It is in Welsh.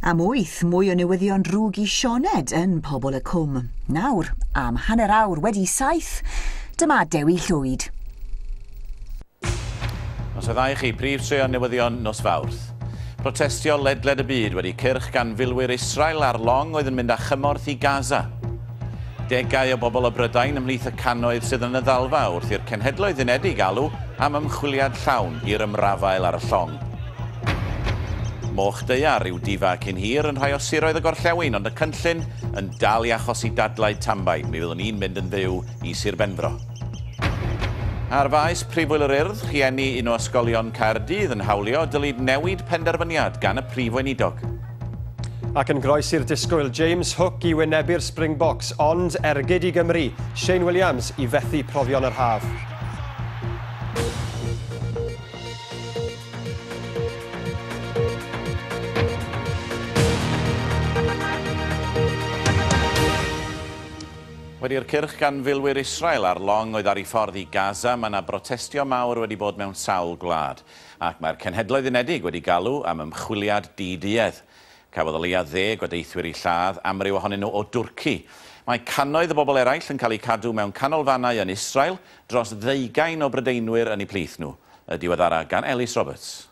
Am 8, mwy o newyddion drwg i Sioned yn Pobol y Cwm. Nawr, am 7:30, dyma Dewi Llwyd. Noswaith dda i chi, prif straeon newyddion nos Fawrth. Protestio ledled y byd wedi cyrch gan filwyr Israel ar long oedd yn mynd â chymorth i Gaza. Degau o bobl o Brydain ymhlith y cannoedd sydd yn y ddalfa wrth i'r Cenhedloedd Unedig alw am ymchwiliad llawn i'r ymrafael ar y llong. Moch daear yw difa cyn hir yn rhai o siroedd y gorllewin, ond y cynllun yn dal i achosi dadlau tanbaid. Mi fyddwn ni'n mynd yn fyw i Sir Benfro. Ar faes Prifwyl yr Urdd, rhieni un o ysgolion Caerdydd yn hawlio dylid newid penderfyniad gan y Prif Weinidog. Ac yn groes i'r disgwyl, James Hook i wynebu'r Springboks, ond ergyd i Gymru, Shane Williams i fethu profion yr haf. Wedi'r cyrch gan filwyr Israel ar long oedd ar ei ffordd i Gaza, mae yna brotestio mawr wedi bod mewn sawl gwlad. Ac mae'r Cenhedloedd Unedig wedi galw am ymchwiliad diduedd. Cafodd o leia 10 o deithwyr eu lladd, amryw ohonyn nhw o Dwrci. Mae cannoedd o bobl eraill yn cael eu cadw mewn canolfannau yn Israel, dros 20 o Brydeinwyr yn eu plith nhw. Y diweddara gan Elis Roberts.